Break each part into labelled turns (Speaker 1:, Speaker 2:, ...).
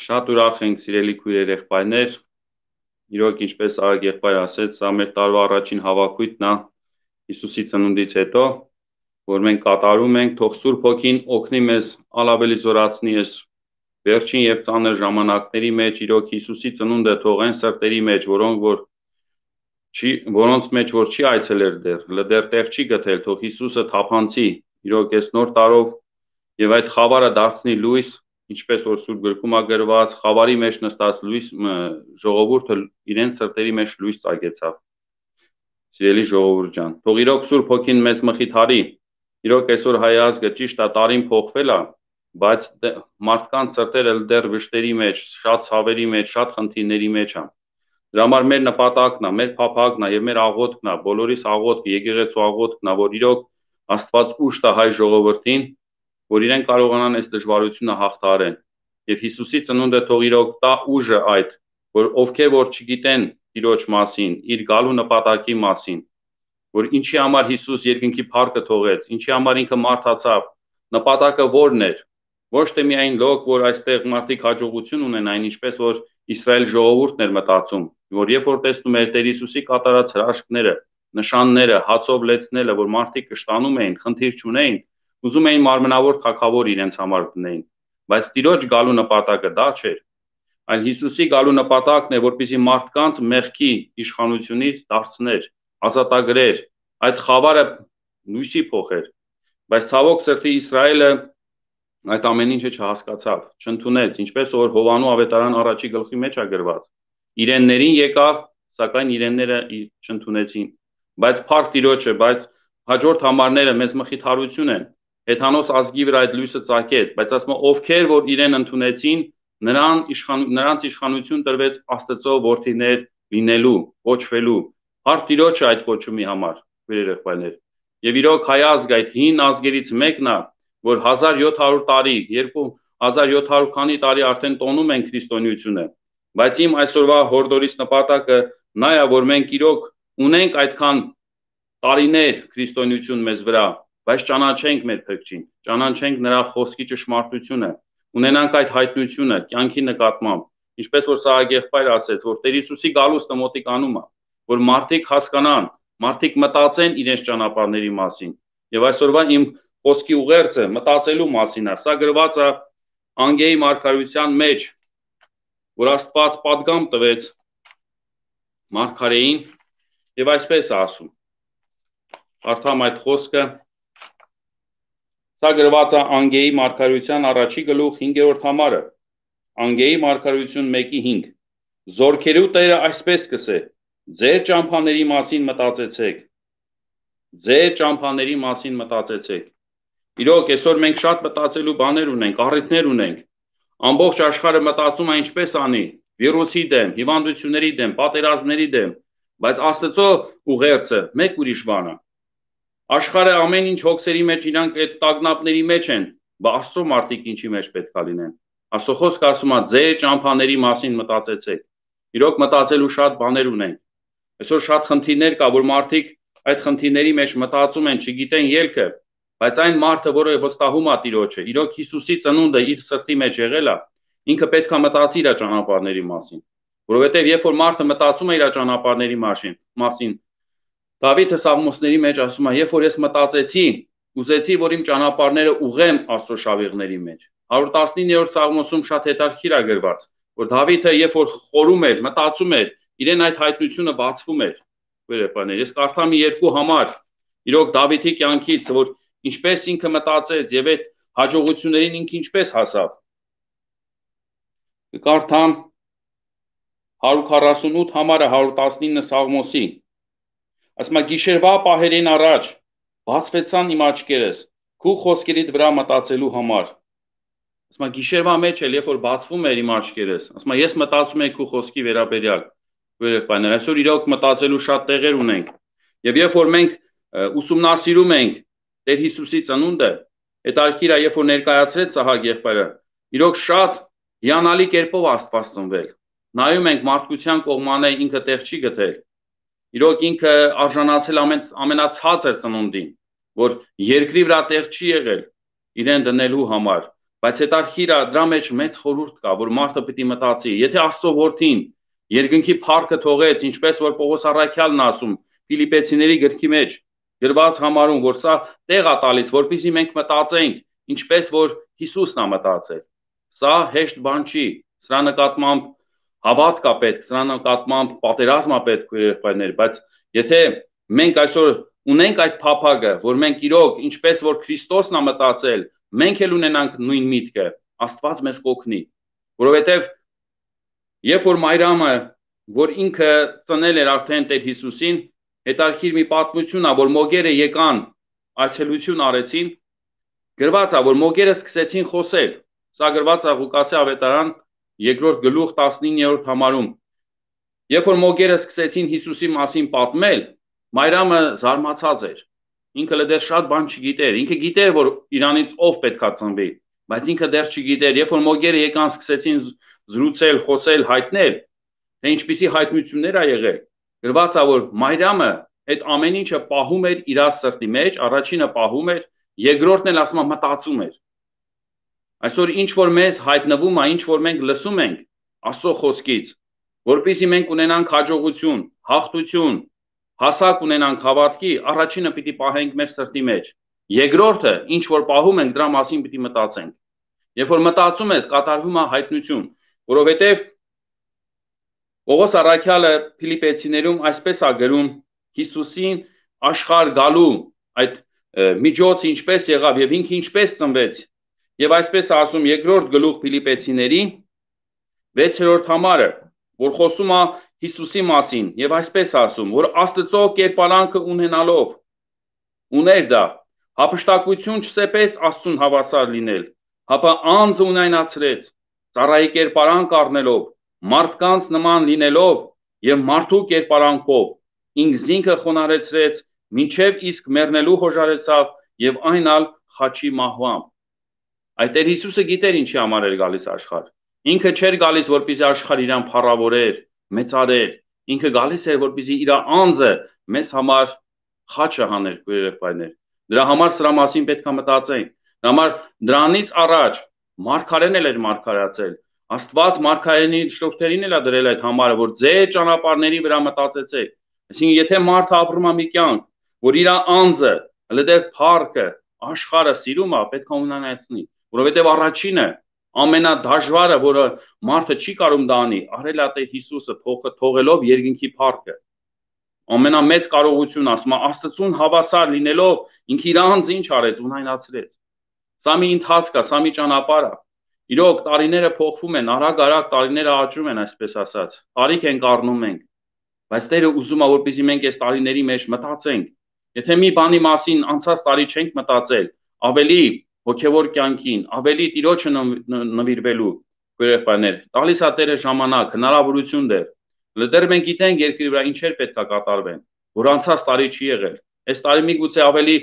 Speaker 1: Շատ ուրախ ենք սիրելի քույրեր եղբայրներ, իրոք ինչպես Արագ եղբայր ասեց, սա մեր տարվա առաջին հավաքույթն է Հիսուսի ծնունդից հետո, որ մենք կատարում ենք, թող Սուրբ Հոգին օգնի մեզ ավելի զորացնի այս վերջին եւ ծանր ժամանակների մեջ, իրոք Հիսուսի ծնունդը թող այն սրտերի մեջ, որոնց մեջ որ չի այցելեր դեռ տեղ չի գտել, թող Հիսուսը թափանցի, իրոք այս նոր տարով եւ այդ խավարը դարձնի լույս, ինչպես որ Սուրբ գրքում է գրված, խավարի մեջ նստած լույս ժողովուրդը իրենց սրտերի մեջ լույս ծագեցավ։ Սիրելի ժողովուրդ ջան, թող իրոք Սուրբ Հոգին մեզ մխիթարի, իրոք այսօր հայ ազգը ճիշտ է տարին փոխվել է, բայց մարդկանց սրտերը դեռ վշտերի մեջ, շատ ցավերի մեջ, շատ խնդիրների մեջ է։ Դրա համար մեր նպատակն է, մեր փափագն է եւ մեր աղոթքն է, բոլորիս աղոթքը, եկեղեցու աղոթքն է, որ իրոք Աստված ուժ տա հայ ժողովրդին, որ իրեն կարողանան այս դժվարությունը հաղթահարեն։ Եվ Հիսուսի ծնունդը թող իրոք տա ուժը այդ, որ ովքեր որ չգիտեն Տիրոջ մասին, իր գալու նպատակի մասին, որ ինչի համար Հիսուս երկնքի փառքը թողեց, ինչի համար ինքը մարդացավ, նպատակը որն էր, ոչ թե միայն լոկ, որ այստեղ մարդիկ հաջողություն ունենային, ինչպես որ Իսրայել ժողովուրդն էր մտածում, որ երբ որ տեսնում էր Տեր Հիսուսի կատարած հրաշքները, նշանները, հացով լեցնելը, որ մարդիկ կշտանում էին, խնդիր չունեին, ուզում էին մարմնավոր թագավոր իրենց համար դնեին, բայց Տիրոջ գալու նպատակը դա չէր, այլ Հիսուսի գալու նպատակն է, որպեսզի մարդկանց մեղքի իշխանությունից դարձներ, ազատագրեր, այդ խավարը լույսի փոխեր, բայց ցավոք սրտի Իսրայելը այդ ամեն ինչը չհասկացավ, չընդունեց, ինչպես որ Հովանու ավետարան առաջի գլխի մեջ է գրված, իրեններին եկավ, սակայն իրենները չընդունեցին, բայց փառք Տիրոջը, բայց հաջորդ համարները մեզ մխիթարություն են, հեթանոս ազգի վրա այդ լույսը ծագեց, բայց ասում ովքեր որ իրեն ընդունեցին, նրանց իշխանություն տրվեց Աստծո որդիներ լինելու, կոչվելու, փառք Տիրոջը այդ կոչումի համար, քույրեր եղբայրներ, եւ իրոք հայ ազգ այդ հին ազգերից մեկն է, որ 1700 տարի, 2700 քանի տարի արդեն տոնում են քրիստոնեությունը, բայց իմ այսօրվա հորդորից նպատակը նա է, որ մենք իրոք ունենք այդքան տարիներ քրիստոնեություն մեզ վրա, բայց ճանաչենք մեր Փրկչին, ճանաչենք նրա խոսքի ճշմարտությունը, ունենանք այդ հայտնությունը կյանքի նկատմամբ, ինչպես որ Սահակ եղբայրը ասեց, որ Տեր Հիսուսի գալուստը մոտիկանում է, որ մարդիկ հասկանան, մարդիկ մտածեն իրենց ճանապարհների մասին, եւ այսօրվա իմ խոսքի ուղերձը մտածելու մասին է, սա գրված է Անգեի մարգարեության մեջ, որ Աստված պատգամ տվեց մարգարեին եւ այսպես է ասում, կարդամ այդ խոսքը, սա գրված է Անգեի մարգարեության առաջի գլուխ 5-րդ համարը, Անգեի մարգարեություն 1:5, Զորքերու Տերը այսպես կսե, ձեր ճամփաների մասին մտածեցեք, ձեր ճամփաների մասին մտածեցեք, իրոք այսօր մենք շատ մտածելու բաներ ունենք, առիթներ ունենք, ամբողջ աշխարհը մտածում է ինչպես անի, վիրուսի դեմ, հիվանդությունների դեմ, պատերազմների դեմ, բայց Աստծո ուղերձը մեկ ուրիշ բան է, աշխարհը ամեն ինչ հոգսերի մեջ իրանք այդ տագնապների մեջ են, բայց Աստծո մարդիկ ինչի մեջ պետք է լինեն, Աստծո խոսքը ասում է ձեր ճամփաների մասին մտածեցեք, իրոք մտածելու շատ բաներ ունենք, այսօր շատ խնդիրներ կա, որ մարդիկ այդ խնդիրների մեջ մտածում են, չգիտեն ելքը, բայց այն մարդը, որը վստահում է Տիրոջը, իրոք Հիսուսի ծնունդը իր սրտի մեջ եղել է, ինքը պետք է մտածի իր ճանապարհների մասին, որովհետև երբ որ մարդը մտածում է իր ճանապարհների մասին, Դավիթը Սաղմոսների մեջ ասում է, երբ որ ես մտածեցի, ուզեցի, որ իմ ճանապարհները ուղղեմ Աստծո շավիղների մեջ։ 119-րդ Սաղմոսում շատ հետաքրքիր է գրված, որ Դավիթը երբ որ խորում էր, մտածում էր, իրեն այդ հայտնությունը բացվում էր։ Ես կարդամ մի երկու համար, իրոք Դավիթի կյանքից, որ ինչպես ինքը մտածեց եւ այդ հաջողություններին ինքը ինչպես հասավ։ Կարդամ 148 համարը 119 Սաղմոսի։ Ասում է գիշերվա պահերին առաջ բացվեցան իմ աչքերս, քու խոսքերիդ վրա մտածելու համար։ Ասում է գիշերվա մեջ էլ երբ որ բացվում էր իմ աչքերս, ասում է ես մտածում եմ քու խոսքի վերաբերյալ։ Վերջապես այսօր իրոք մտածելու շատ տեղեր ունենք։ Եվ երբ որ մենք ուսումնասիրում ենք Տեր Հիսուսի ծնունդը, հետաքրքիր է, երբ որ ներկայացրեց Սահակ եղբայրը, իրոք շատ հիանալի կերպով Աստված ծնվել։ Նայում ենք մարդկության կողմանը ինքը տեղ չի գտել։ Իրոք ինքը արժանացել ամենացածր ծնունդին, որ երկրի վրա տեղ չի եղել իրեն դնելու համար, Բայց հետարքիր է դրա մեջ մեծ խորհուրդ կա, որ մարդը պիտի մտածի, եթե Աստծո որդին երկնքի փառքը թողեց, ինչպես որ Պողոս առաքյալն ասում, Ֆիլիպեցիների գրքի մեջ գրված համարում, որ սա տեղ է տալիս, որպեսզի մենք մտածենք, ինչպես որ Հիսուսն է մտածել։ Սա հեշտ բան չի, սրա նկատմամբ հավատք է պետք, սրա նկատմամբ պատերազմ է պետք, եղբայրներ, բայց եթե մենք այսօր ունենք այդ փափագը, որ մենք իրոք ինչպես որ Քրիստոսն է մտածել, մենք էլ ունենանք նույն միտքը, Աստված մեզ կօգնի, որովհետև երբ որ Մայրամը, որ ինքը ծնել էր արդեն Տեր Հիսուսին, հետարքիր մի պատմություն է, որ մոգերը եկան, այցելություն արեցին, գրված է, որ մոգերը սկսեցին խոսել, սա գրված է Ղուկասի ավետարան 2-րդ գլուխ 19-րդ համարում, երբ որ մոգերը սկսեցին Հիսուսի մասին պատմել, Մայրամը զարմացած էր, ինքը դեռ շատ բան չգիտեր, ինքը գիտեր, որ իրանից ով պետքա ծնվի, բայց ինքը դեռ չգիտեր, երբ որ մոգերը եկան սկսեցին զրուցել, խոսել, հայտնել, թե ինչպիսի հայտնություններ ա եղել, գրված է, որ Մայրամը այդ ամեն ինչը պահում էր իր սրտի մեջ, առաջինը պահում էր, երկրորդն էլ ասում մտածում էր։ Այսօր ինչ որ մեզ հայտնվում է, ինչ որ մենք լսում ենք Աստծո խոսքից, որպեսզի մենք ունենանք հաջողություն, հաղթություն, հասակ ունենանք հավատքի, առաջինը պիտի պահենք մեր սրտի մեջ։ Երկրորդը, ինչ որ պահում ենք, դրա մասին պիտի մտածենք։ Երբ որ մտածում ես, կատարվում է հայտնություն, որովհետև Պողոս առաքյալը Ֆիլիպեցիներում այսպես է գրում Հիսուսին աշխարհ գալու այդ միջոցը ինչպես եղավ եւ ինքը ինչպես ծնվեց։ Եվ այսպես ասում երկրորդ գլուխ Ֆիլիպեցիների 6-րդ համարը, որ խոսում է Հիսուսի մասին եւ այսպես ասում, որ Աստծո կերպարանքը ունենալով ուներ դա, հափշտակություն չսեպեց Աստծուն հավասար լինել, հապա անձը ունայնացրեց, ծառայի կերպարանք առնելով, մարդկանց նման լինելով եւ մարդու կերպարանքով, ինքզինքը խոնարհեցրեց, մինչև իսկ մեռնելու հոժարեցավ եւ այն ալ խաչի մահվամբ։ Այդ Տեր Հիսուսը գիտեր ինչի համար էր գալիս աշխարհ։ Ինքը չէր գալիս, որպեսզի աշխարհ իրան փառավորեր, մեծարեր, ինքը գալիս էր, որպեսզի իր անձը մեզ համար խաչը հաներ, եղբայրներ։ Դրա համար սրա մասին պետք է մտածենք։ Դրա համար դրանից առաջ մարգարեն էլ էր մարգարացել։ Աստված մարգարենի շուրթերին էլ է դրել այդ համարը, որ ձեր ճանապարհների վրա մտածեցեք։ Այսինքն, եթե մարդը ապրում է մի կյանք, որ իր անձը, հլդեր փառքը, աշխարհը սիրում է, պետք է ունենացնի, որովհետև առաջինը ամենադժվարը, որը մարդը չի կարող դա անի, արել է Տեր Հիսուսը թողելով երկնքի փառքը։ Ամենամեծ կարողություն ասում է Աստծուն հավասար լինելով ինքը իր անձը ինչ արեց, ունայնացրեց։ Սա մի ընթացք է, սա մի ճանապարհ է։ Իրոք տարիները փոխվում են, արագ-արագ տարիները աճում են, այսպես ասած։ Տարիք ենք առնում ենք։ Բայց Տերը ուզում է, որպեսզի մենք այս տարիների մեջ մտածենք։ Եթե մի բանի մասին անցած տարի չենք մտածել, ավելի հոգևոր կյանքին, ավելի Տիրոջը նվիրվելու, եղբայրներ, տալիս է Տերը ժամանակ, հնարավորություն դեր։ Դեռ մենք գիտենք երկրի վրա ինչեր պետք է կատարվեն, որ անցած տարի չի եղել։ Այս տարի միգուցե ավելի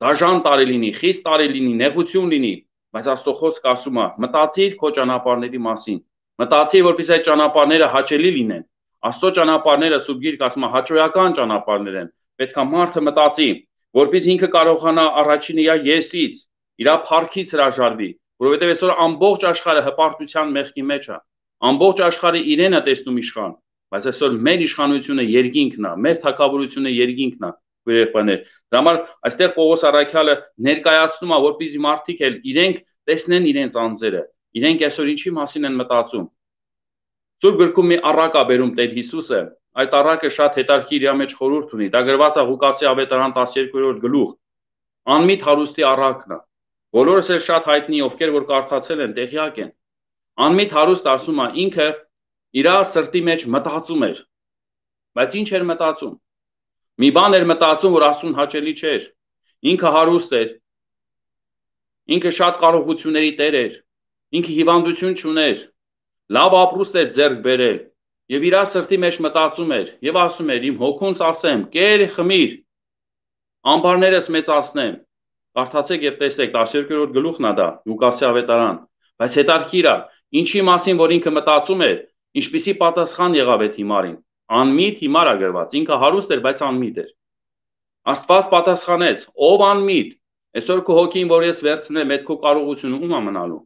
Speaker 1: դաժան տարի լինի, խիստ տարի լինի, նեղություն լինի, բայց Աստծո խոսքը ասում է, մտածիր քո ճանապարհների մասին։ Մտածիր, որպեսզի այդ ճանապարհները հաճելի լինեն։ Աստծո ճանապարհները Սուրբ Գիրքը ասում է հաճոյական ճանապարհներ են։ Պետք է մարդը մտածի, որպեսզի ինքը կարողանա առաջինը իր եսից, իր փառքից հրաժարվի, որովհետև այսօր ամբողջ աշխարհը հպարտության մեղքի մեջ է։ Ամբողջ աշխարհը իրենը տեսնում իշխան, բայց այսօր մեր իշխանությունը երկինքն է, մեր թագավորությունը երկինքն է, եղբայրներ։ Դրա համար այստեղ Պողոս առաքյալը ներկայացնում է, որպեսզի մարդիկ էլ իրենք տեսնեն իրենց անձերը, իրենք այսօր ինչի մասին են մտածում։ Սուրբ գրքում մի առակ է բերում Տեր Հիսուսը, այդ առակը շատ հետարքի իր մեջ խորհուրդ ունի։ Դա գրված է Ղուկասի ավետարան 12-րդ գլուխ։ Անմիտ հարուստի առակն է։ Բոլորս էլ շատ հայտնի, ովքեր որ կարդացել են, տեղյակ են։ Անմիտ հարուստ ասում է, ինքը իր սրտի մեջ մտածում էր։ Բայց ինչ էր մտածում։ Մի բան էր մտածում, որ Աստծուն հաճելի չէր։ Ինքը հարուստ էր։ Ինքը շատ կարողությունների տեր էր։ Ինքը հիվանդություն չուներ։ Լավ ապրուստ էր ձեռք բերել։ Եվ իր սրտի մեջ մտածում էր եւ ասում էր իմ հոգունց ասեմ, կեր խմիր, ամբարներս մեծացնեմ։ Կարդացեք եւ տեսեք 12-րդ գլուխն է դա, Լուկասի ավետարան։ Բայց հետարքիր է, ինչի մասին որ ինքը մտածում էր, ինչպիսի պատասխան եղավ այդ հիմարին։ Անմիտ հիմար է գրված, ինքը հարուստ էր, բայց անմիտ էր։ Աստված պատասխանեց, ով անմիտ, այսօր քո հոգին, որ ես վերցնեմ, այդ քո կարողությունը ում է մնալու։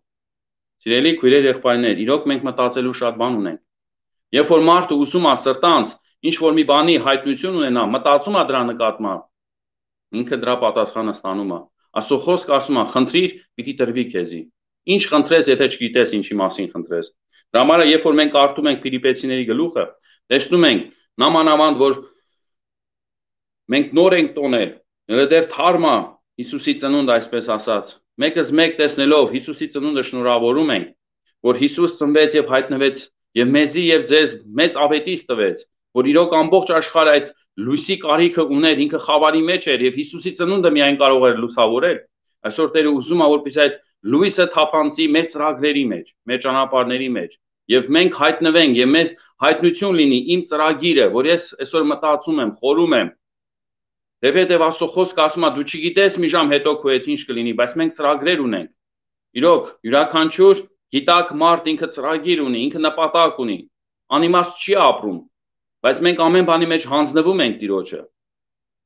Speaker 1: Սիրելի քույրեր, եղբայրներ, իրոք մենք մտածելու շատ բան ունենք։ Երբ որ մարդը ուսում է սրտանց, ինչ որ մի բանի հայտնություն ունենա, մտածում է դրա նկատմամբ, ինքը դրա պատասխանը ստանում է։ Աստծո խոսքը ասում է, խնդրիր, պիտի տրվի քեզի։ Ինչ խնդրես, եթե չգիտես ինչի մասին խնդրես։ Դրա համար երբ որ մենք կարդում ենք Ֆիլիպեցիների գլուխը, տեսնում ենք նամանավանդ, որ մենք նոր ենք տոնել, դեռ թարմա Հիսուսի ծնունդ, այսպես ասած, մեկս մեկ տեսնելով Հիսուսի ծնունդը շնորհավորում ենք, որ Հիսուս ծնվեց եւ հայտնվեց եւ մեզի եւ ձեզ մեծ ավետից տվեց, որ իրոք ամբողջ աշխարհը այդ լույսի կարիքը ուներ, ինքը խավարի մեջ էր եւ Հիսուսի ծնունդը միայն կարող էր լուսավորել։ Այսօր Տերը ուզում է, որպեսզի այդ լույսը թափանցի մեր ծրագրերի մեջ, մեր ճանապարհների մեջ եւ մենք հայտնվենք եւ մեզ հայտնություն լինի իմ ծրագիրը, որ ես այսօր մտածում եմ, խորում եմ։ Դեպի Աստծո խոսքը ասում է, դու չգիտես մի ժամ հետո քո հետ ինչ կլինի, բայց մենք ծրագրեր ունենք։ Իրոք, յուրաքանչյուր գիտակ մարդ ինքը ծրագիր ունի, ինքը նպատակ ունի, անիմաստ չի ապրում, բայց մենք ամեն բանի մեջ հանձնվում ենք Տիրոջը։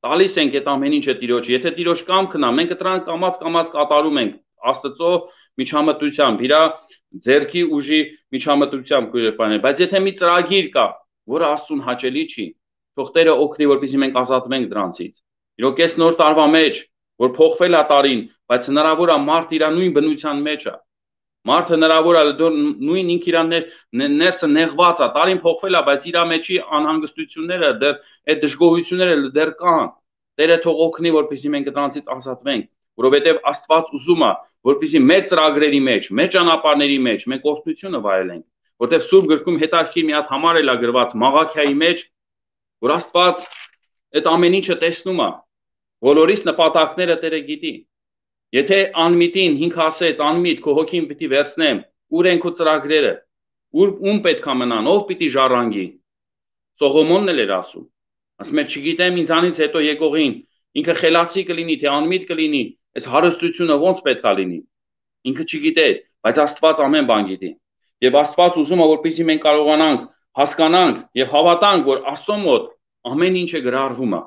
Speaker 1: Տալիս ենք այդ ամեն ինչը Տիրոջը։ Եթե Տիրոջ կամքն է, մենք դրան կամած կատարում ենք Աստծո միջամտությամբ, իր ձեռքի ուժի միջամտությամբ քույրերփաներ, բայց եթե մի ծրագիր կա, որը Աստծուն հաճելի չի, թող Տերը օգնի, որպեսզի մենք ազատվենք դրանցից։ Իրոք այս նոր տարվա մեջ, որ փոխվել է տարին, բայց հնարավոր է մարդ իր նույն բնության մեջ է։ Մարդը հնարավոր է նույն ինքը իր ներսը նեղված է, տարին փոխվել է, բայց իր մեջի անհանգստությունները, դեռ այդ դժգոհությունները դեռ կան։ Տերը թող օգնի, որպեսզի մենք դրանցից ազատվենք, որովհետև Աստված ուզում է, որպեսզի մեր ծրագրերի մեջ, մեր ճանապարհների մեջ մենք օրհնությունը վայելենք, որտեղ Սուրբ գրքում հետաքրքիր մի հատ համար էլ է գրված Մաղաքիայի մեջ, որ Աստված այդ ամեն ինչը տեսնում է, բոլորիս նպատակները Տերը գիտի։ Եթե անմիտին ինքը ասեց, անմիտ քո հոգին պիտի վերցնեմ, ուր են քո ծրագրերը, ում պետք է մնան, ով պիտի ժառանգի։ Սողոմոնն էլ էր ասում։ Ասում է, չգիտեմ ինձանից հետո եկողին, ինքը խելացի կլինի, թե անմիտ կլինի, այս հարստությունը ոնց պետք է լինի։ Ինքը չգիտեր, բայց Աստված ամեն բան գիտի։ Եվ Աստված ուզում է, որպեսզի մենք կարողանանք հասկանանք եւ հավատանք, որ Աստծո մոտ ամեն ինչը գրառվում է։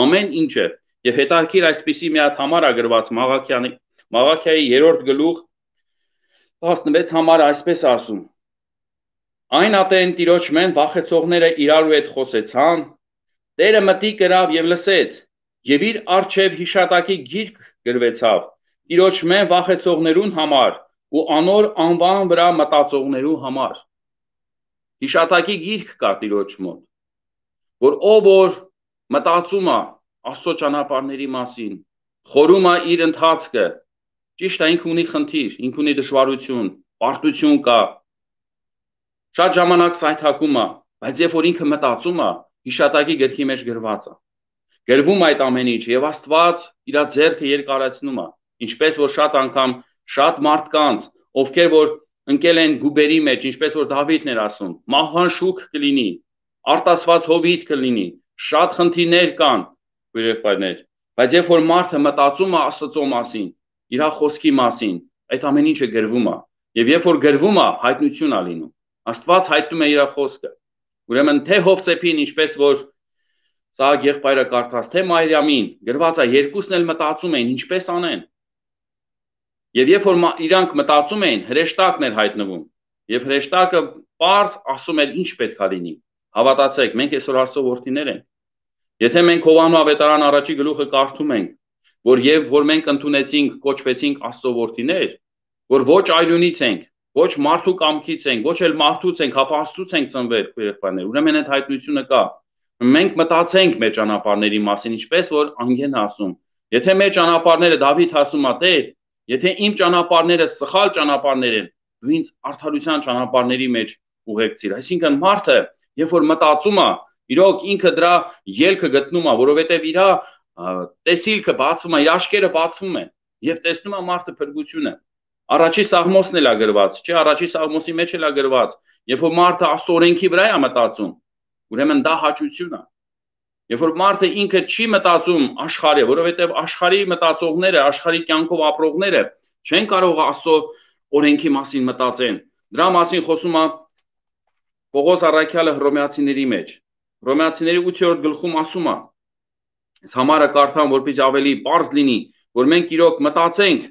Speaker 1: Ամեն ինչը։ Եվ հետաքրքիր այսպիսի մի հատ համար է գրված Մաղաքիայի 3-րդ գլուխ 16 համարը այսպես ասում. Այն ատեն Տիրոջ մեն վախեցողները իրարու հետ խոսեցան, Տերը մտի կրավ եւ լսեց, եւ իր առջև հիշատակի գիրք գրվեցավ Տիրոջ մեն վախեցողներուն համար ու անոր անվան վրա մտածողներու համար։ Հիշատակի գիրք կա Տիրոջ մոտ, որ ով որ մտածում է Աստծո ճանապարհների մասին, խորում է իր ընթացքը, ճիշտ է, ինքը ունի խնդիր, ինքը ունի դժվարություն, պարտություն կա, շատ ժամանակ սայթակում է, բայց երբ որ ինքը մտածում է, հիշատակի գրքի մեջ գրված է, գրվում այդ ամեն ինչը եւ Աստված իր ձեռքը երկարացնում է, ինչպես որ շատ անգամ շատ մարդկանց, ովքեր որ ընկել են գուբերի մեջ, ինչպես որ Դավիթն էր ասում, մահվան շուք կլինի, արտասված հովիտ կլինի, շատ խնդիրներ կան, եղբայրներ, բայց երբ որ մարդը մտածում է Աստծո մասին, իր խոսքի մասին, այդ ամեն ինչը գրվում է, եւ երբ որ գրվում է, հայտնություն է լինում։ Աստված հայտնում է իր խոսքը։ Ուրեմն թե Հովսեփին, ինչպես որ Սաղ եղբայրը կարդաց, թե Մարիամին, գրված է, երկուսն էլ մտածում էին, ինչպես անեն։ Եվ երբ որ իրանք մտածում էին, հրեշտակն էր հայտնվում, եւ հրեշտակը պարզ ասում էր ինչ պետք է լինի։ Հավատացեք, մենք այսօր Աստծո որդիներ ենք։ Եթե մենք Հովանու ավետարան առաջի գլուխը կարդում ենք, որ եւ որ մենք ընդունեցինք, կոչվեցինք Աստծո որդիներ, որ ոչ այլունից ենք, ոչ մարդու կամքից ենք, ոչ էլ մարդուց ենք, հապա Աստծուց ենք ծնվել, եղբայրներ։ Ուրեմն այդ հայտնությունը կա։ Մենք մտածենք մեր ճանապարհների մասին, ինչպես որ անգեն ասում։ Եթե մեր ճանապարհները Դավիթ ասում է, Տեր, եթե իմ ճանապարհները սխալ ճանապարհներ են, դու ինձ արդարության ճանապարհների մեջ ուղեկցիր։ Այսինքն մարդը, երբ որ մտածում է, իրոք ինքը դրա ելքը գտնում է, որովհետև իր տեսիլքը բացվում է, իր աչքերը բացվում են եւ տեսնում է մարդը փրկությունը։ Առաջի Սաղմոսն էլ է գրված, չէ, առաջի Սաղմոսի մեջ էլ է գրված, երբ որ մարդը Աստծո օրենքի վրա է մտածում, ուրեմն դա հաճություն է։ Երբ որ մարդը ինքը չի մտածում աշխարհի, որովհետև աշխարհի մտածողները, աշխարհի կյանքով ապրողները չեն կարող Աստծո օրենքի մասին մտածեն։ Դրա մասին խոսում է Պողոս առաքյալը Հռոմեացիների մեջ։ Հռոմեացիների 8-րդ գլխում ասում է. Այս համարը կարդամ, որպեսզի ավելի պարզ լինի, որ մենք իրոք մտածենք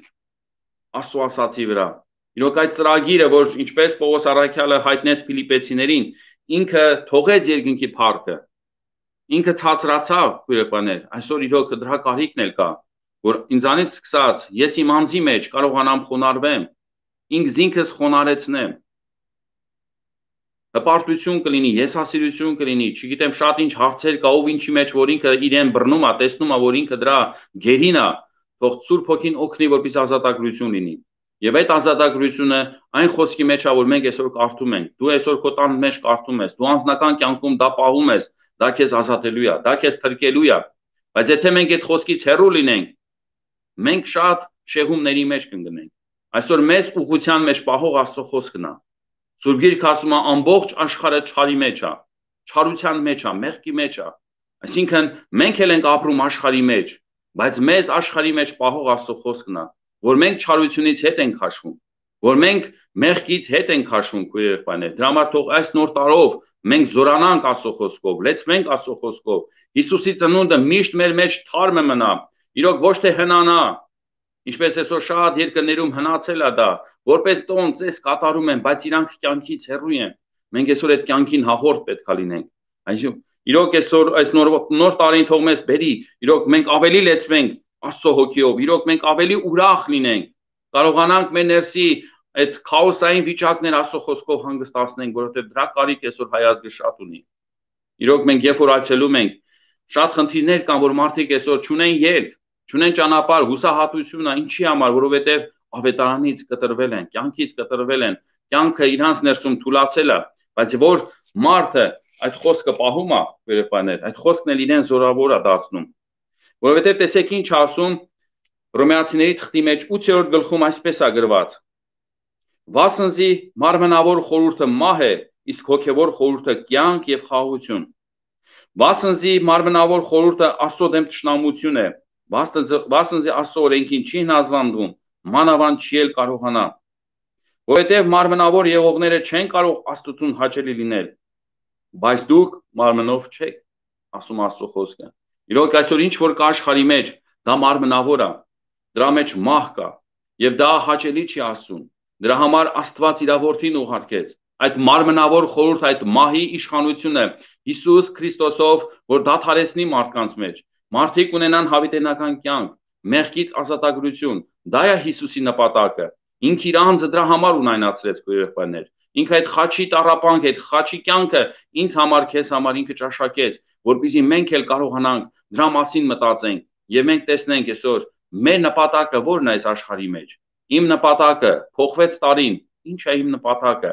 Speaker 1: Աստծո ասացի վրա։ Իրոք այդ ծրագիրը, որ ինչպես Պողոս առաքյալը հայտնեց Ֆիլիպեցիներին, ինքը թողեց երկնքի փառքը, ինքը ցածրացավ, քույրերներ, այսօր իրոք դրա կարիքն էլ կա, որ ինձանից սկսած ես իմ անձի մեջ կարողանամ խոնարհվեմ, ինքս ինքս խոնարհեցնեմ։ Հպարտություն կլինի, եսասիրություն կլինի, չգիտեմ շատ ինչ հարցեր կա, ով ինչի մեջ որ ինքը իրեն բռնում է, տեսնում է, որ ինքը դրա գերին է, թող Սուրբ Հոգին օգնի, որպես ազատագրություն լինի։ Եվ այդ ազատագրությունը այն խոսքի մեջ է, որ մենք այսօր կարդում ենք։ Դու այսօր քո տան մեջ կարդում ես, դու անձնական կյանքում դա պահում ես, դա քեզ ազատելու է, դա քեզ փրկելու է։ Բայց եթե մենք այդ խոսքից հեռու լինենք, մենք շատ շեղումների մեջ կընկնենք։ Այսօր մեզ ուղղության մեջ պահող Աստծո խոսքն է։ Սուրբ Գիրքը ասում է ամբողջ աշխարհը չարի մեջ է, չարության մեջ է, մեղքի մեջ է։ Այսինքն մենք էլ ենք ապրում աշխարհի մեջ, բայց մեզ աշխարհի մեջ պահող Աստծո խոսքն է, որ մենք չարությունից հետ ենք քաշվում, որ մենք մեղքից հետ ենք քաշվում, քույրերներ։ Դրա համար թող այս նոր տարով մենք զորանանք Աստծո խոսքով, լեցվենք Աստծո խոսքով։ Հիսուսի ծնունդը միշտ մեր մեջ թարմը մնա, իրոք ոչ թե հնանա, ինչպես այսօր շատ երկրներում հնացել է դա, որպես տոն ծես կատարում են, բայց իրանք կյանքից հեռու են։ Մենք այսօր այդ կյանքին հաղորդ պետք է լինենք։ Այսինքն իրոք այսօր այս նոր տարին թող մեզ բերի, իրոք մենք ավելի լեցվենք Աստծո հոգիով, իրոք մենք ավելի ուրախ լինենք, կարողանանք մեր ներսի այդ քաոսային վիճակներ Աստծո խոսքով հանգստացնենք, որովհետև դրա կարիք այսօր հայ ազգը շատ ունի։ Իրոք մենք երբ որ այցելում ենք, շատ խնդիրներ կան, որ մարդիկ այսօր չունեն ելք, չունեն ճանապարհ, հուսահատություն է, ինչի համար, որովհետև ավետարանից կտրվել են, կյանքից կտրվել են, կյանքը իրանց ներսում թուլացել է, բայց որ մարդը այդ խոսքը պահում է, վերապաներ, այդ խոսքն էլ իրեն զորավոր է դարձնում։ Որովհետև տեսեք ինչ ասում Հռոմեացիների թղթի մեջ 8-րդ գլխում այսպես է գրված. Վասնզի մարմնավոր խորհուրդը մահ է, իսկ հոգևոր խորհուրդը կյանք եւ խաղաղություն։ Վասնզի մարմնավոր խորհուրդը Աստծո դեմ թշնամություն է, վասնզի Աստծո օրենքին չի հնազանդվում, մանավանդ չի էլ կարողանա։ Որովհետև մարմնավոր եղողները չեն կարող Աստծուն հաճելի լինել, բայց դուք մարմնով չեք, ասում Աստծո խոսքը։ Իրոք այսօր ինչ որ կա աշխարհի մեջ, դա մարմնավոր է, դրա մեջ մահ կա, եւ դա հաճելի չի ասում։ Դրա համար Աստված իր որդին ուղարկեց։ Այդ մարմնավոր խորհուրդ, այդ մահի իշխանությունը Հիսուս Քրիստոսով, որ դադարեցնի մարդկանց մեջ։ Մարդիկ ունենան հավիտենական կյանք, մեղքից ազատագրություն։ Դա է Հիսուսի նպատակը։ Ինքը իր անձը դրա համար ունայնացրեց, քույրերներ։ Ինքը այդ խաչի տառապանք, այդ խաչի կյանքը ինձ համար, քեզ համար ինքը ճաշակեց, որպեսզի մենք էլ կարողանանք դրա մասին մտածենք եւ մենք տեսնենք այսօր մեր նպատակը ո՞րն է այս աշխարհի մեջ։ Իմ նպատակը փոխվեց տարին, ի՞նչ է իմ նպատակը։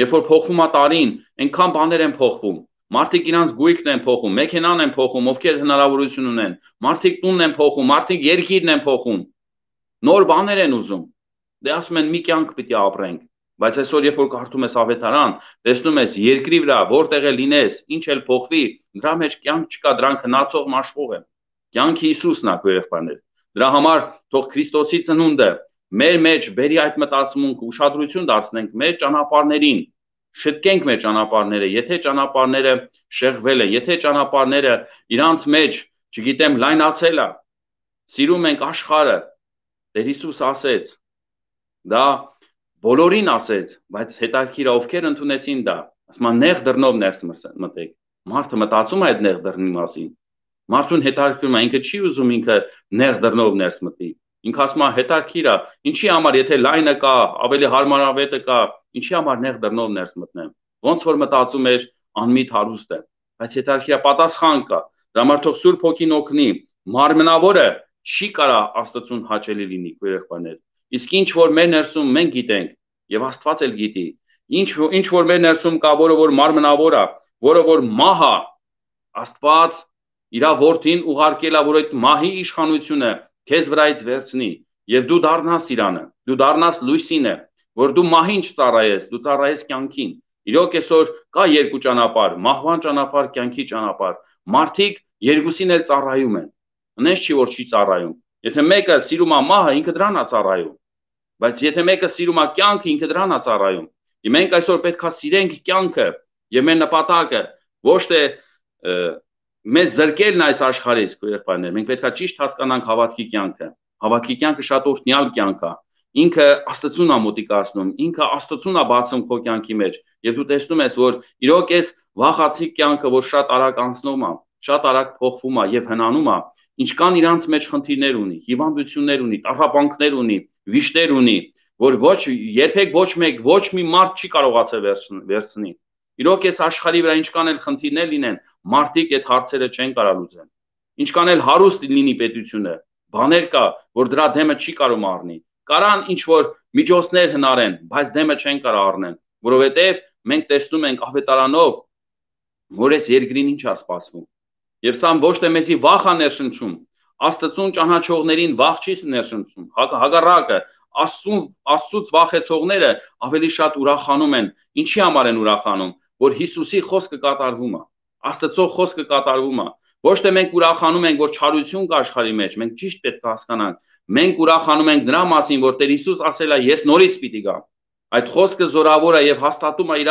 Speaker 1: Երբ որ փոխվում է տարին, այնքան բաներ են փոխվում։ Մարդիկ իրանց գույքն են փոխում, մեքենան են փոխում, ովքեր հնարավորություն ունեն։ Մարդիկ տունն են փոխում, մարդիկ երկիրն են փոխում։ Նոր բաներ են ուզում։ Դե ասում են մի կյանք պիտի ապրենք, բայց այսօր երբ որ կարդում ես ավետարան, տեսնում ես երկրի վրա որտեղ է լինես, ինչ էլ փոխվի, դրա մեջ կյանք չկա, դրանք հնացող մաշվող են։ Կյանքը Հիսուսն է, քույրերներ։ Դրա համար թող Քրիստոսի ծնունդը մեր մեջ բերի այդ մտածմունքը, ուշադրություն դարձնենք մեր ճանապարհներին, շտկենք մեր ճանապարհները, եթե ճանապարհները շեղվել են, եթե ճանապարհները իրանց մեջ, չգիտեմ, լայնացել է, սիրում ենք աշխարհը, Տեր Հիսուս ասեց, դա բոլորին ասեց, բայց հետաքրքիր է ովքեր ընդունեցին դա, ասում են նեղ դռնով ներս մտեք։ Մարդը մտածում է այդ նեղ դռնի մասին։ Մարդուն հետաքրքրում է, ինքը չի ուզում ինքը նեղ դռնով ներս մտի։ Ինքը ասում է հետաքրքիր է, ինչի համար եթե լայնը կա, ավելի հարմարավետը կա, ինչի համար նեղ դռնով ներս մտնեմ։ Ոնց որ մտածում էր անմիտ հարուստը, բայց հետաքրքիր է պատասխան կա։ Դրա համար թող Սուրբ Հոգին օգնի, մարմնավորը չի կարա Աստծուն հաճելի լինի, քույրերներ։ Իսկ ինչ որ մեր ներսում մենք գիտենք եւ Աստված էլ գիտի, ինչ որ մեր ներսում կա, որը որ մարմնավոր է, որը որ մահ է, Աստված իր որդին ուղարկել է, որ այդ մահի իշխանությունը քեզ վրայից վերցնի եւ դու դառնաս իրանը, դու դառնաս լույսինը, որ դու մահին չծառայես, դու ծառայես կյանքին։ Իրոք այսօր կա երկու ճանապարհ, մահվան ճանապարհ, կյանքի ճանապարհ։ Մարդիկ երկուսին էլ ծառայում են։ Այնպես չի որ չի ծառայում։ Եթե մեկը սիրում է մահը, ինքը դրան է ծառայում։ Բայց եթե մեկը սիրում է կյանքը, ինքը դրան է ծառայում։ Եվ մենք այսօր պետք է սիրենք կյանքը եւ մեր նպատակը ոչ թե մեզ զրկելն այս աշխարհից, քույրերներ, մենք պետք է ճիշտ հասկանանք հավատքի կյանքը։ Հավատքի կյանքը շատ օրհնյալ կյանք է։ ինքը Աստծուն է մոտիկացնում, ինքը Աստծուն է բացում քո կյանքի մեջ, եւ դու տեսնում ես, որ իրոք այս վախացիկ կյանքը, որ շատ արագ անցնում է, շատ արագ փոխվում է եւ հնանում է, ինչքան իրանց մեջ խնդիրներ ունի, հիվանդություններ ունի, տառապանքներ ունի, վիշտեր ունի, որ երբեք ոչ մի մարդ չի կարողացել վերցնի։ Իրոք այս աշխարհի վրա ինչքան էլ խնդիրներ լինեն, մարդիկ այդ հարցերը չեն կարող լուծել։ Ինչքան էլ հարուստ լինի պետությունը, բաներ կա, որ դրա դեմը չի կարող առնի։ Կարան ինչ որ միջոցներ հնարեն, բայց դեմը չեն կարող առնեն, որովհետև մենք տեսնում ենք ավետարանով, որ այս երկրին ինչ է սպասվում։ Եվ սա ոչ թե մեզի վախ է ներշնչում, Աստծուն ճանաչողներին վախ չի ներշնչում, հակառակը, Աստծուց վախեցողները ավելի շատ ուրախանում են։ Ինչի համար են ուրախանում, որ Հիսուսի խոսքը կատարվում է, Աստծո խոսքը կատարվում է։ Ոչ թե մենք ուրախանում ենք, որ չարություն կա աշխարհի մեջ, մենք ճիշտ պետք է հասկանանք։ Մենք ուրախանում ենք դրա մասին, որ Տեր Հիսուս ասել է, ես նորից պիտի գամ։ Այդ խոսքը զորավոր է եւ հաստատում է իր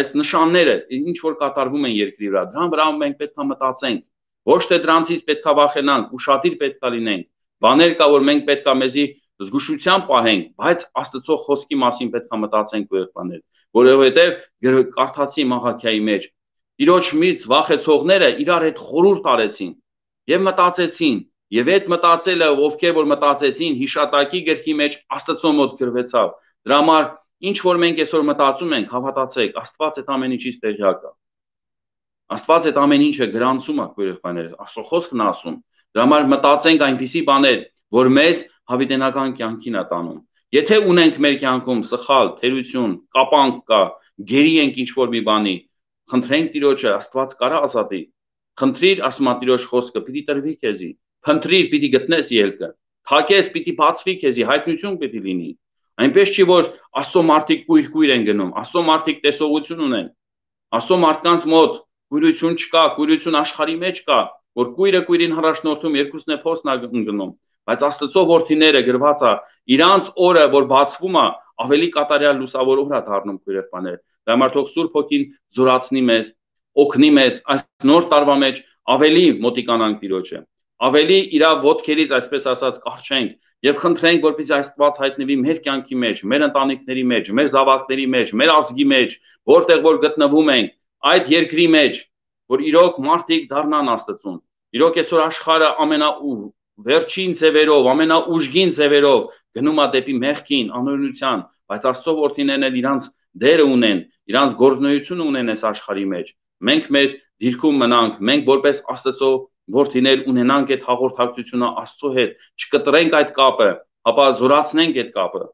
Speaker 1: այս նշանները, ինչ որ կատարվում են երկրի վրա։ Դրան վրա մենք պետք է մտածենք։ Ոչ թե դրանցից պետք է վախենանք, ուշադիր պետք է լինենք։ Բաներ կա, որ մենք պետք է մեզի զգուշությամբ պահենք, բայց Աստծո խոսքի մասին պետք է մտածենք երբաներ, որովհետեւ կարդացի Մաղաքիայի մեջ Տիրոջ միից վախեցողները իրար հետ խորհուրդ արեցին եւ մտածեցին, եւ այդ մտածելը, ովքեր որ մտածեցին, հիշատակի գրքի մեջ Աստծո մոտ գրվեցավ։ Դրա համար ինչ որ մենք այսօր մտածում ենք, հավատացեք, Աստված այդ ամեն ինչից տեղյակ է։ Աստված այդ ամեն ինչը գրանցում է, երեխաներ, Աստծո խոսքն ասում։ Դրա համար մտածենք այնպիսի բաներ, որ մեզ հավիտենական կյանքին է տանում։ Եթե ունենք մեր կյանքում սխալ, թերություն, կապանք կա, գերի ենք ինչ որ մի բանի, խնդրենք Տիրոջը, Աստված կարա ազատի։ Խնդրիր, ասում է Տիրոջ խոսքը, պիտի տրվի քեզի։ Խնդրիր, պիտի գտնես ելքը։ Թակես, պիտի բացվի քեզի, հայտնություն պիտի լինի։ Այնպես չի, որ Աստծո մարդիկ կույր են գնում, Աստծո մարդիկ տեսողություն ունեն։ Աստծո մարդկանց մոտ կույրություն չկա, կույրություն աշխարհի մեջ կա, որ կույրը կույրին առաջնորդում, երկուսն է փոսն գնում, բայց Աստծո որդիները գրված է, իրանց օրը, որ բացվում է, ավելի կատարյալ լուսավոր օր է դառնում երեխաներ։ Դա համար թող Սուրբ Հոգին զորացնի մեզ, օգնի մեզ այս նոր տարվա մեջ ավելի մոտիկանանք Տիրոջը, ավելի իր ոտքերից, այսպես ասած, կարճենք եւ խնդրենք, որպեսզի Աստված հայտնվի մեր կյանքի մեջ, մեր ընտանիքների մեջ, մեր զավակների մեջ, մեր ազգի մեջ, որտեղ որ գտնվում ենք, այդ երկրի մեջ, որ իրոք մարդիկ դառնան Աստծուն։ Իրոք այսօր աշխարհը ամենավերջին ձևերով, ամենաուժգին ձևերով գնում է դեպի մեղքին, անօրենության, բայց Աստծո որդիներն էլ իրանց դերը ունեն, իրանց գործունեությունը ունեն այս աշխարհի մեջ։ Մենք մեր դիրքում մնանք, մենք որպես Աստծո որդիներ ունենանք այդ հաղորդակցությունը Աստծո հետ, չկտրենք այդ կապը, ապա զորացնենք այդ կապը։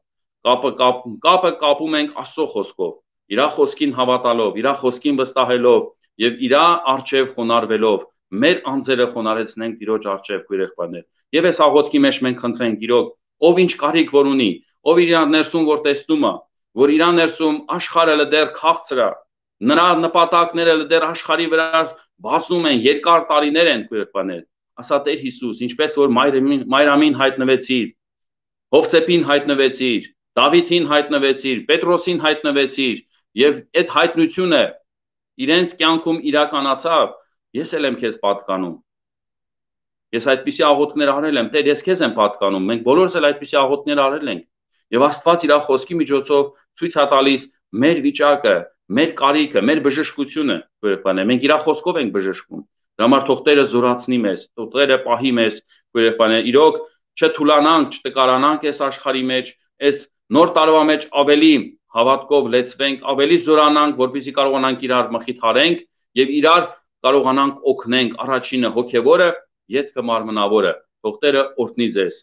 Speaker 1: Կապը կապում ենք Աստծո խոսքով, իր խոսքին հավատալով, իր խոսքին վստահելով եւ իր արժեվ խոնարհվելով, մեր անձերը խոնարհեցնենք Տիրոջ արժեվ երեխաներ։ Եվ այս աղոթքի մեջ մենք խնդրենք Տիրոջ, ով ինչ կարիք որ ունի, ով իր ներսում որ տեսնում է, որ իր ներսում աշխարհը դեռ քաղցր է, նրա նպատակները դեռ աշխարհի վրա բացում են, երկար տարիներ են երեխաներ։ Ասա Տեր Հիսուս, ինչպես որ Մայրամին հայտնվեցիր, Հովսեփին հայտնվեցիր, Դավիթին հայտնվեցիր, Պետրոսին հայտնվեցիր, եւ այդ հայտնությունը իրենց կյանքում իրականացավ, ես էլ եմ քեզ պատկանում։ Ես այդպիսի աղոթքներ արել եմ, Տեր, ես քեզ եմ պատկանում, մենք բոլորս էլ այդպիսի աղոթքներ արել ենք։ Եվ Աստված իր խոսքի միջոցով ցույց է տալիս մեր վիճակը, մեր կարիքը, մեր բժշկությունը, երեխաներ, մենք իր խոսքով ենք բժշկում։ Դրա համար թող Տերը զորացնի մեզ, թող Տերը պահի մեզ, երեխաներ, իրոք չթուլանանք, չտկարանանք այս աշխարհի մեջ, այս նոր տարվա մեջ ավելի հավատքով լեցվենք, ավելի զորանանք, որպեսզի կարողանանք իրար մխիթարենք եւ իրար կարողանանք օգնենք, առաջինը հոգեվորը, ետքը մարմնավորը։ Թող Տերը օրհնի ձեզ։